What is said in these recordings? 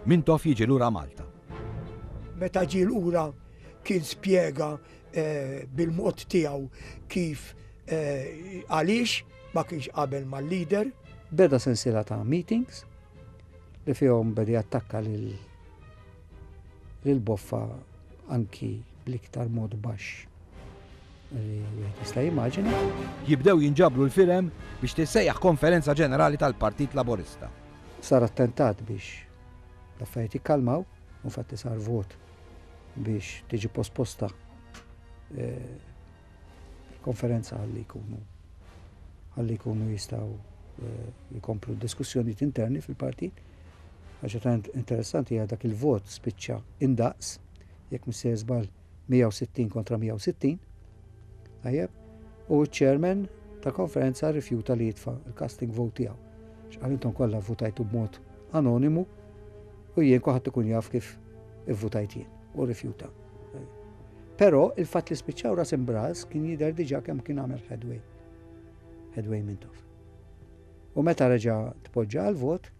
Mintoff jiġi lura Malta. Meta ġie lura kien spjega eh, bil-mod tiegħu kif eh, għaliex ma kienx qabel mal-leader. Beda sensiela ta' meetings li fihom beda jattakka lil lil Boffa anki bl-iktar mod baxx li wieħed jista' jimmaġina. Jibdew jinġabru l-firem biex tissejjaħ konferenza ġenerali tal-Partit Laburista. Sar attentat biex l-affarijiet jikkalmaw, u infatti sar vot biex tiġi posposta eh, il-konferenza ħalli jkunu ħalli jkunu jistgħu eh, jkomplu d-diskussjonijiet interni fil-partit. Ħaġa ta' interessanti hija dak il-vot spiċċa indaqs jekk mhux sejjer żball 160 kontra 160. Tajjeb, u ċ-chairman ta' konferenza rrifjuta li jitfa' il-casting vote tiegħu. X'qal intom kollha votajtu b'mod anonimu u jien kulħadd ikun jaf kif ivvutajt jien u rrifjuta. Però il-fatt li spiċċaw ras imbras kien jidher diġà kemm kien għamel headway. Headway Mintoff. U meta reġa' tpoġġa għal-vot,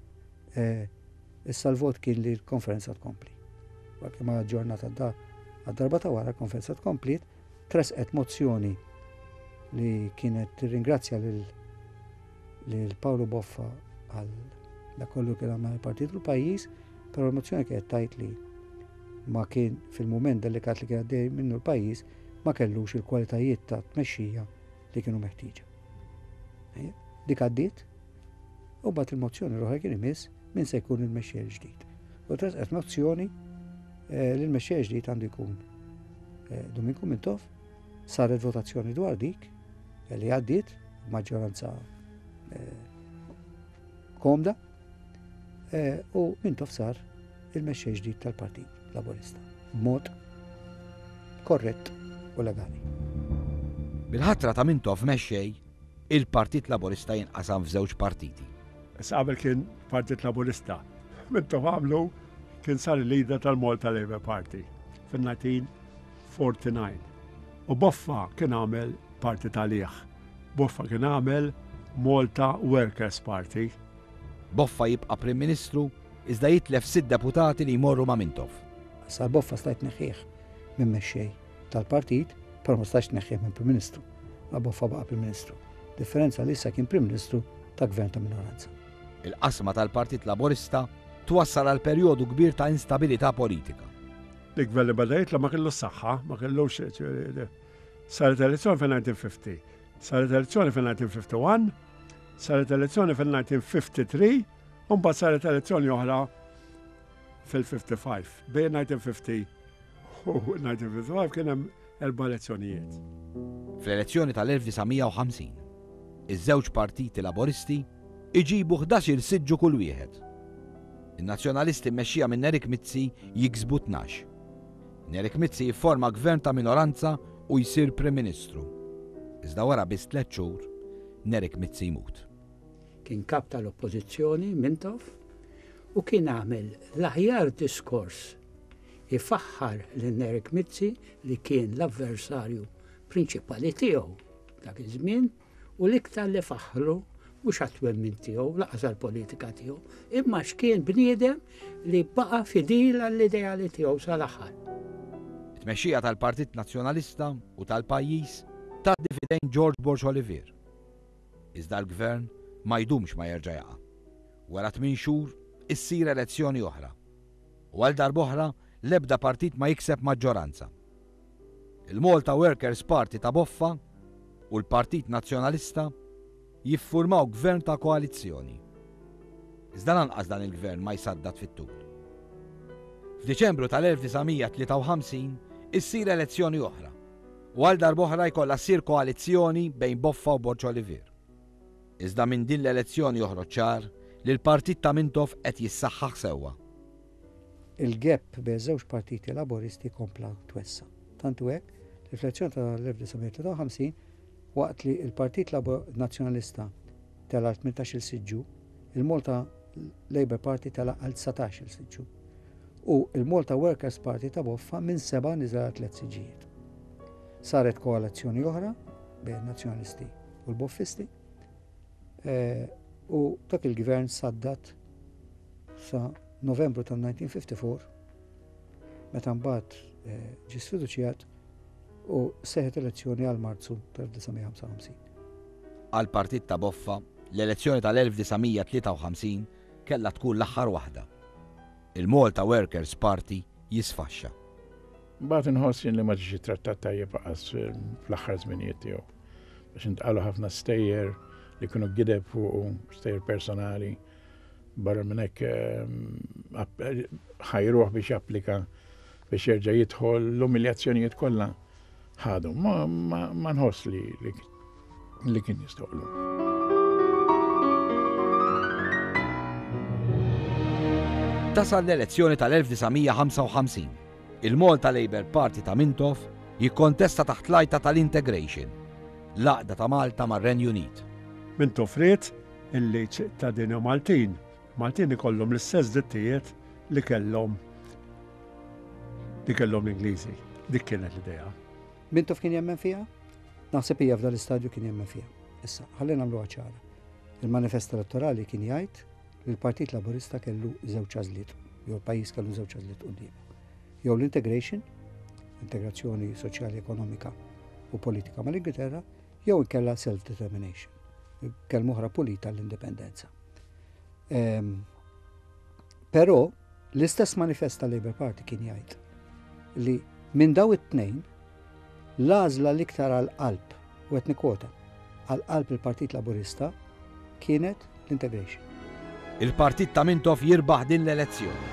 eh, issa l-vot kien li l-konferenza tkompli. Għalkemm ma ġurnata għad-darba ta' wara l-konferenza tkompliet, tresqet mozzjoni li kienet tirringrazzja lil lil Paolo Boffa għal dak kollu kien għamel il-partit u l-pajjiż, però l-mozzjoni kienet tajt li ma kien fil-mument delikat li kien għaddej minnu l-pajjiż ma kellux il-kwalitajiet ta' tmexxija li kienu meħtieġa. Dik għaddiet, u bat il-mozzjoni l-oħra kien imiss min se jkun il-mexxej ġdid. U tresqet mozzjoni eh, li l-mexxej ġdid għandu jkun eh, Dominku Mintoff, saret votazzjoni dwar dik eh, li għaddiet maġġoranza komda u Mintoff sar il-mexxej ġdid tal-Partit Laburista. B'mod korrett u legali. Bil-ħatra ta' Mintoff mexxej, il-Partit Laburista jinqasam f'żewġ partiti. Issa qabel kien Partit Laburista. Mintoff għamlu kien sar il-leader tal-Malta Labour Party fil-1949. U Boffa kien għamel parti talih. Boffa kien għamel Malta Workers Party. Boffa jibqa' Prim Ministru iżda jitlef sitt deputati li jmorru ma' Mintoff. Issa Boffa stajt tneħħih minn mexxej tal-partit, però ma stajtx tneħħih minn Prim Ministru. Ma Boffa baqa' Prim Ministru. Differenza li issa kien Prim Ministru ta' gvern ta' minoranza. Il-qasma tal-Partit Laburista twassal għal perjodu kbir ta' instabilità politika. Il-gvern li beda jitla' ma kellux saħħa, ma kellux Saret elezzjoni fil-1950, saret elezzjoni fil-1951, saret elezzjoni fil-1953, u mbagħad saret elezzjoni oħra fil-55. Bejn 1950 u 1955 kien hemm erba' elezzjonijiet. Fl-elezzjoni tal-1950, iż-żewġ partiti Laboristi iġibu 11-il siġġu kull wieħed. In-Nazzjonalisti mmexxija minn Nerik Mizzi jiksbu 12. Nerik Mizzi jifforma gvern ta' minoranza u jsir Prim Ministru. Iżda wara biss tliet xhur, Nerik Mizzi jmut. Kien kap tal-Oppożizzjoni Mintoff u kien għamel l-aħjar diskors ifaħħar lil Nerik Mizzi li kien l-avversarju prinċipali tiegħu dak iż-żmien u l-iktar li faħħru mhux għat-twemmin tiegħu, laqas għall-politika tiegħu, imma għax kien bniedem li baqa' fidil għall-ideali tiegħu sal-aħħar. It-tmexxija tal-Partit Nazzjonalista u tal-pajjiż tgħaddi f'idejn George Borg Olivier. Iżda l-gvern ma jdumx ma jerġa' jaqa'. Wara tmien xhur issir elezzjoni oħra. U għal darb'oħra l-ebda partit ma jikseb maġġoranza. Il-Malta Workers' Party ta' Boffa u l-Partit Nazzjonalista jiffurmaw gvern ta' koalizzjoni. Iżda lanqas dan il-gvern ma jsaddad fit-tul. F'Diċembru tal-1953 issir elezzjoni oħra u għal darb'oħra jkollha ssir koalizzjoni bejn Boffa u Borg Olivier. Iżda minn din l-elezzjoni joħroġ ċar li l-partit ta' Mintoff qed jissaħħaħ sewwa. Il-gap bejn iż-żewġ partiti Laburisti kompla twessa'. Tant hu hekk li fl-elezzjoni tal-1953 waqt li l-Partit Nazzjonalista tela' għal 18-il siġġu, il-Malta Labour Party tela' għal 19-il siġġu u l-Malta Workers Party ta' Boffa minn seba' niżel għal tliet siġġijiet. Saret koalizzjoni oħra bejn in-Nazzjonalisti u l-Boffisti eh, u dak il-gvern saddat sa. Novembru tal-1954 meta mbagħad eh, ġie sfiduċjat u seħet elezzjoni għal Marzu tal-1955. Għall-partit ta' Boffa, l-elezzjoni tal-1953 kellha tkun l-aħħar waħda. Il-Malta Workers' Party jisfaxxa. Mbagħad inħoss jien li ma ġiex ittrattat tajjeb aqas fl-aħħar żminijiet tiegħu. Għax intqalu ħafna stejjer li kienu gideb fuqu, stejjer personali. Barra minn hekk ehm, ħajruh biex japplika biex jerġa' jidħol l-umiljazzjonijiet kollha ħadu. Ma nħoss li li kien jistoqlu. Tasal l-elezzjoni tal-1955. Il-Malta Labour Party ta' Mintoff jikkontesta taħt l-għajta tal-integration, l-għaqda ta' Malta mar-Renju Unit. Mintoff ried illi ċittadini Maltin, Maltin ikollhom l-istess drittijiet li kellhom li kellhom l-Ingliżi. Dik kienet l-idea. Mintoff kien jemmen fiha? Naħseb hija f'dan l-istadju kien jemmen fiha. Issa, ħalli nagħmluha ċara. Il-manifest elettorali kien jgħid li l-Partit Laburista kellu żewġ għażliet, jew l-pajjiż kellu żewġ għażliet quddiemu. Jew l-integration, integrazzjoni soċjali, ekonomika u politika mal-Ingilterra, jew inkella self-determination, kelma oħra pulita l-indipendenza. Ehm, però l-istess manifest tal-Labour Party kien jgħid li minn daw it-tnejn l-għażla l-iktar għal qalb u qed nikkwota, għal qalb il-Partit Laburista kienet l-integration. Il-partit ta' Mintoff jirbaħ din l-elezzjoni.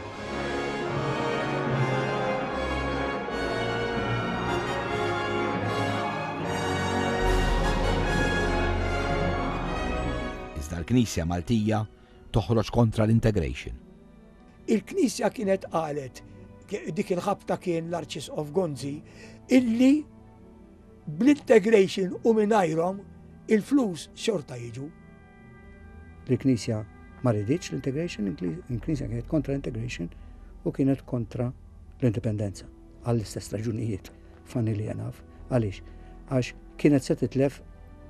Iżda l-Knisja Maltija toħroġ kontra l-integration. Il-Knisja kienet qalet, dik il-ħabta kien l-Arċisqof Gonzi, illi bl-integration u mingħajrhom il-flus xorta jiġu. Il-Knisja ma riditx l-integration, il-Knisja kienet kontra l-integration u kienet kontra l-indipendenza għall-istess raġunijiet funnily enough. Għaliex? Għax kienet se titlef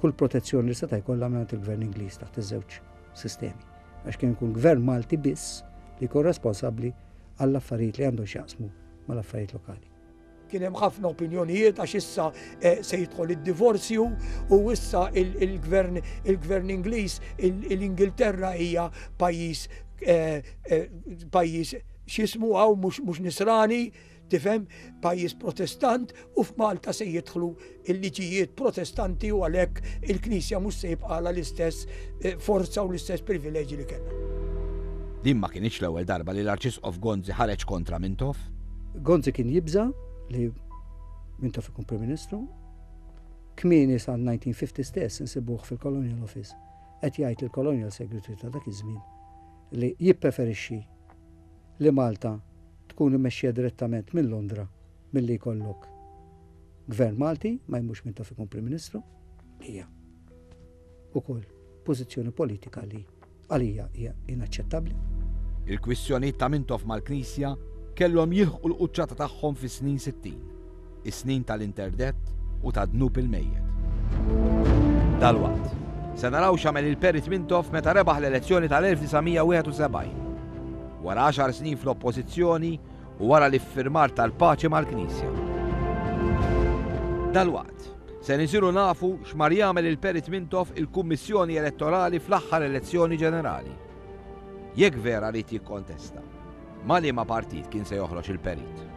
kull protezzjoni li seta' jkollha mingħand il-Gvern Ingliż taħt iż-żewġ sistemi. Għax kien ikun gvern Malti biss li jkun responsabbli għall-affarijiet li għandhom x'jaqsmu mal-affarijiet lokali. Kien hemm ħafna opinjonijiet għax issa eh, se jidħol id-divorzju u issa il-gvern il-gvern Ingliż l-Ingilterra hija pajjiż eh, eh, pajjiż x'ismu hawn mhux nisrani Tifhem, pajjiż Protestant u f'Malta se jidħlu l-liġijiet Protestanti u għalhekk il-Knisja mhux se jibqagħlha l-istess eh, forza u l-istess privileġġi li kellha. Din ma kinitx l-ewwel darba li l-Arċisqof Gonzi ħareġ kontra Mintoff. Gonzi kien jibża' li Mintoff ikun Prim Ministru. Kmieni sal-1950 stess insibuh fil-Colonial Office qed jgħid lill-Colonial Secretary ta' dak iż-żmien li jippreferixxi li Malta tkun immexxija direttament minn Londra milli jkollok Gvern Malti ma jmurx Mintoff ikun Prim Ministru, hija ukoll pożizzjoni politika li għalija hija inaċċettabbli. Il-kwistjonijiet ta' Mintoff mal-Knisja kellhom jilħqu l-quċċata tagħhom fis-snin 60, is-snin tal-interdett u tad-dnub il-mejjet. Dalwaqt, se naraw x'għamel il-Perit Mintoff meta rebaħ l-elezzjoni tal-1971. Wara għaxar snin fl-Oppożizzjoni u wara l-iffirmar tal-paċi mal-Knisja. Dalwaqt, se nisiru nafu x'mar jagħmel il-Perit Mintoff il-Kummissjoni Elettorali fl-aħħar elezzjoni ġenerali. Jekk vera ried jikkontesta, ma' liema partit kien se joħroġ il-Perit?